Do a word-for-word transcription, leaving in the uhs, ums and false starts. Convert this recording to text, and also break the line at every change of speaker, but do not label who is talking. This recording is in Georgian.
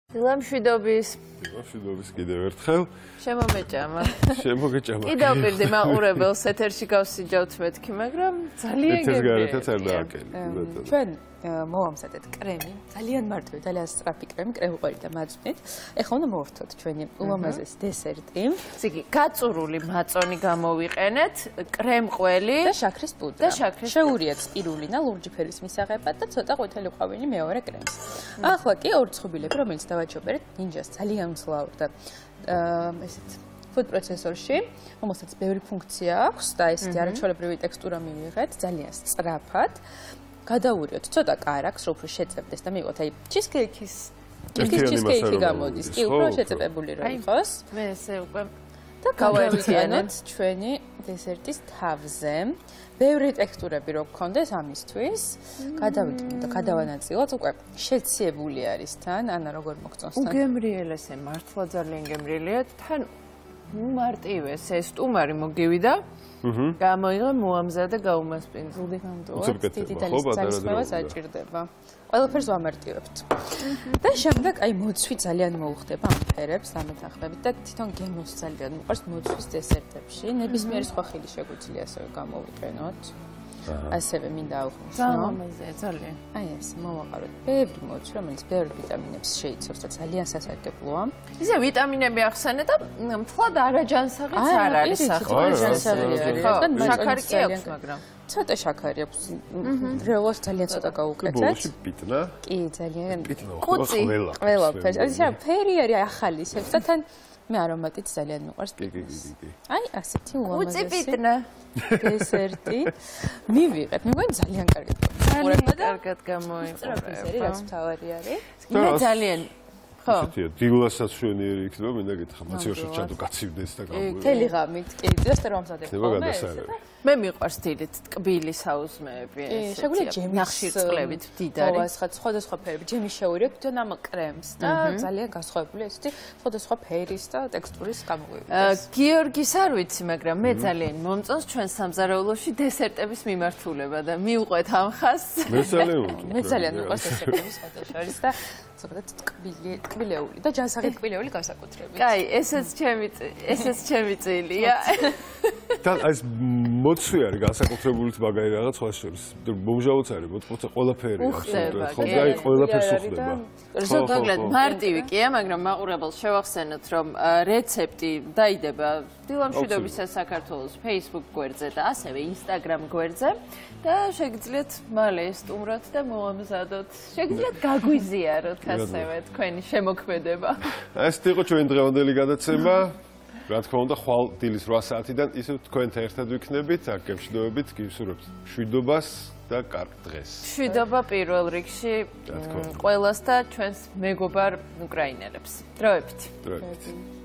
დილამშვიდობის.
დილამშვიდობის კიდევ ერთხელ.
შემომეჭამა.
შემოგეჭამა.
კიდევ პირდი მაყურებელს ეთერში გავსიჯავთ მეთქი, მაგრამ ძალიან
გემრიელია. ეთერს არ დააკელი.
ჩვენ მოვამზადეთ კრემი, ძალიან მარტივი, ძალიან სწრაფი კრემი, კრემუყვერი და მაძვნით. ეხლა უნდა მოვართოთ ჩვენი ულამაზესი დესერტი.
ზიგი, გაწურული მაწონი გამოვიყენეთ, კრემყველი
და შაქრის პუდრა.
და შაქრის
შეურიათ სპირულინა ლურჯი ფერის მისაღებად და ცოტა ყვითელი ყვავილი მეორე კრემს. ახლა კი ორი ცხობილები, რომელიც დავაჩობერეთ ნინჯას ძალიან მძლავრ და ესეთ food processor-ში, რომელსაც ბევრი ფუნქცია აქვს და ესეთი არაჩვეულებრივი ტექსტურა მივიღეთ, ძალიან სწრაფად. გადავურიოთ ცოტა კარაქს, რომ უფრო შეწებდეს და მივიღოთ აი ჩიზკეიქის ჩიზკეიქი გამოდის, კი უფრო შეწებებული რომ იყოს.
მე ესე უკვე
და გავაერთიანოთ ჩვენი დესერტის თავზე. ბევრი ტექსტურები რო გქონდეს ამისთვის, გადავიდგინოთ და გადავანაწილოთ, უკვე შეციებული არის თან, ანა როგორ მოგწონს თან.
უგემრიელ ესე მართლა ძალიან გემრიელია, თან მარტივე ეს სტუმარი მოგივიდა. აჰა. გამოიღო მოამზადა გაუმასპინძლდი გამტოვართ.
დიდი ძალისხმევა საჭირდება. ყველაფერს ვამარტივებთ. და შემდეგ აი მოცვი ძალიან მოუხდება ამ ფერებს ამეთანხმებით და თვითონ გემოს ძალიან მიყვარს მოცვის დესერტებში. ნებისმიერი სხვა ხილი შეგვიძლია ასევე გამოვიყენოთ. ასევე მინდა აუხმოს,
ნო? ძალიან.
აი ეს მოვაყაროთ ბევრი მოცვი, რომელიც ბევრი ვიტამინებს შეიცავს და ძალიან სასარგებლოა.
ისე ვიტამინები ახსენე და მთლად არაჯანსაღიც არ არის ახლა.
არაჯანსაღი არის.
შაქარი კი აქვს, მაგრამ
ცოტა შაქარი აქვს. რეალურად ძალიან ცოტა გაუკეთეთ.
ბოლოში პიტნა?
კი, ძალიან.
ყუწი.
ყველაფერს. აი ფერი არის ახალი ისევ და თან მე არომატით ძალიან მიყვარს პიტნას. აი ასეთი უამაზესი.
ყუწი პიტნა.
დესერტი. მივიღეთ. მე მგონი ძალიან კარგად
გამოიყურება და კარგად გამოიყურება.
ეს არის რაც თავარი არის.
მე ძალიან ხო.
ესეთია, დილასაც შვენიერი იქნება, მინდა გითხრა, მოცივაში ჩადო გაცივდეს და გამოვიდა.
თელი ღამით, კი, დღეს რომ ამზადებ ხოლმე.
მე მიყვარს დილით ტკბილი საუზმეები
ეს. შეგვიძლია ჯემის
ნახშირწყლებით დიდარი.
ხო, ასხად სხვადასხვა ფერები, ჯემის შევირიოთ თვითონ ამ კრემს და ძალიან გასხვავებული ესეთი სხვადასხვა ფერის და ტექსტურის გამოგვივიდეს.
გიორგის არ ვიცი, მაგრამ მე ძალიან მომწონს ჩვენ სამზარეულოში დესერტების მიმართულება და მივყვეთ ამ ხაზს.
მე ძალიან მომწონს.
მე ძალიან მიყვარს დესერტების სხვადასხვა და ზოგადად ტკბილი, ტკბილეული და ჯანსაღი ტკბილეული განსაკუთრებით.
კაი, ესეც ჩემი ესეც ჩემი წილია.
და ეს მოცვი არის განსაკუთრებულიც მაგარი რაღაც სხვა შორის. მომჟავოც არის, მოწმოწე ყველაფერი
აბსოლუტურად.
ხო, და ყველაფერს უხდება.
ზოგადად მარტივი კია, მაგრამ მაყურებელს შევახსენოთ, რომ რეცეპტი დაიდება დილამშვიდობის საქართველოს Facebook გვერდზე და ასევე Instagram გვერდზე და შეგიძლიათ მალე სტუმროთ და მოამზადოთ. შეგიძლიათ გაგვიზიაროთ ასევე თქვენი შემოქმედება.
ეს იყო ჩვენი დღევანდელი გადაცემა. რა თქმა უნდა, ხვალ დილის რვა საათიდან ისევ თქვენთან ერთად ვიქნებით, აქ გემშვიდობებით, გისურვებთ მშვიდობას და კარგ დღეს.
მშვიდობა პირველ რიგში ყველას და ჩვენს მეგობარ უკრაინელებს. დროებით.
დროებით.